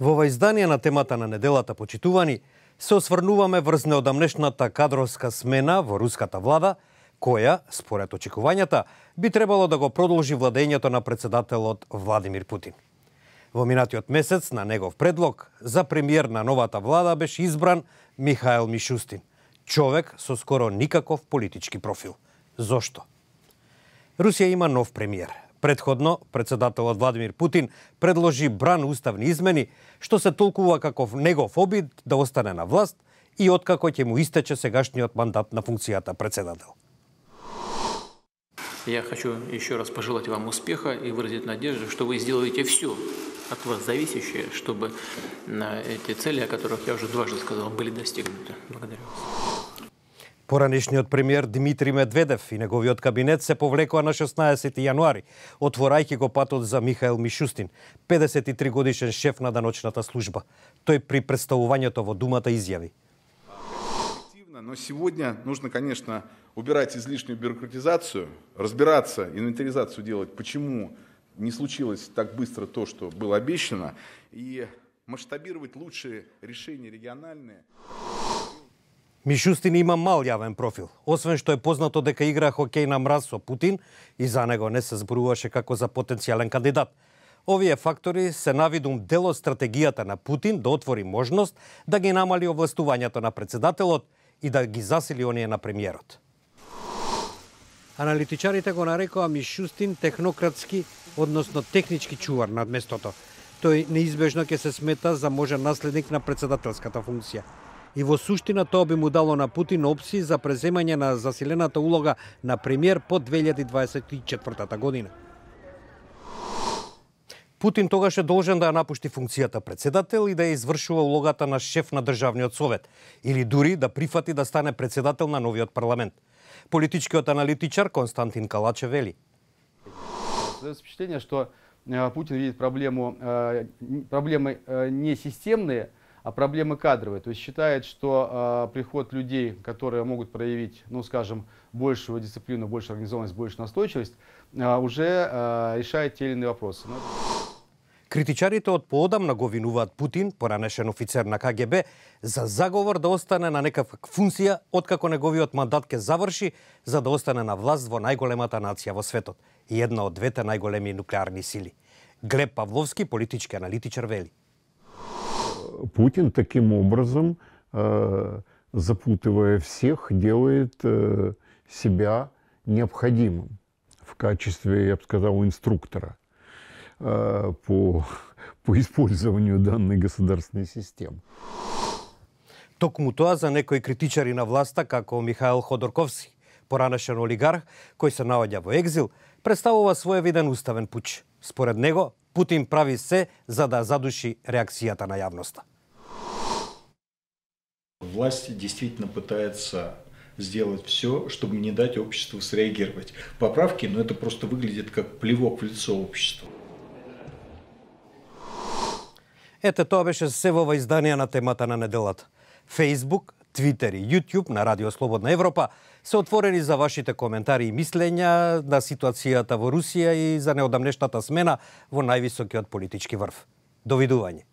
Во ова издание на темата на неделата, почитувани, се осврнуваме врз неодамнешната кадровска смена во руската влада, која, според очекувањата, би требало да го продолжи владењето на председателот Владимир Путин. Во минатиот месец на негов предлог за премиер на новата влада беше избран Михаил Мишустин, човек со скоро никаков политички профил. Зошто? Русија има нов премиер. Предходно, председателот Владимир Путин предложи бран уставни измени, што се толкува како негов обид да остане на власт и откако ќе му истече сегашниот мандат на функцијата председател. Я хочу еще раз пожелать вам успеха и выразить надежду, что вы сделаете все от вас зависящее, чтобы эти цели, о которых я уже дважды сказал, были достигнуты. Благодарю вас. Поранешниот премиер Дмитрий Медведев и неговиот кабинет се повлекоа на 16 јануари, отворајќи го патот за Михаил Мишустин, 53 годишен шеф на даночната служба. Тој при представувањето во Думата изјави: Но сегодня нужно, конечно, убирать излишнюю бюрократизацию, разбираться, инвентаризацию делать, почему не случилось так быстро то, что было обещано, и масштабировать лучшие решения региональные. Мишустин има мал јавен профил, освен што е познато дека игра хокеј на мраз со Путин и за него не се зборуваше како за потенцијален кандидат. Овие фактори се навидум дел од стратегијата на Путин да отвори можност да ги намали овластувањето на председателот и да ги засили оние на премиерот. Аналитичарите го нарекоа Мишустин технократски, односно технички чувар над местото. Тој неизбежно ќе се смета за можен наследник на председателската функција. И во суштина тоа би му дало на Путин опции за преземање на засилената улога на премиер по 2024 година. Путин тогаш е должен да ја напушти функцијата председател и да ја извршува улогата на шеф на државниот совет, или дури да прифати да стане председател на новиот парламент. Политичкиот аналитичар Константин Калачев вели: Создается впечатление, что Путин видит проблемы не системные, а проблемы кадровые. То есть считает, что приход людей, которые могут проявить, ну скажем, большую дисциплину, большую организованность, большую настойчивость, уже решает те или иные вопросы. Критичарите од поодамна го винуваат Путин, поранешен офицер на КГБ, за заговор да остане на некаква функција откако неговиот мандат ќе заврши, за да остане на власт во најголемата нација во светот и една од двете најголеми нуклеарни сили. Глеб Павловски, политички аналитичар, вели: Путин таким образом, запутывая всех, делает себя необходимым в качестве, я бы сказал, инструктора по использованию данной государственной системы. Токму тоа за некои критичари на власта, како Михаил Ходорковски, поранешен олигарх, кој се наоѓа во екзил, представува своевиден уставен пуч. Според него, Путин прави се за да задуши реакцијата на јавноста. Власть действительно пытается сделать все, чтобы не дать обществу среагировать. Поправки, но это просто выглядит как плевок в лицо обществу. Ете, тоа беше се во ова издание на темата на неделата. Facebook, Twitter и YouTube на Радио Слободна Европа се отворени за вашите коментари и мислења на ситуацијата во Русија и за неодамнешната смена во највисокиот политички врв. Довидување.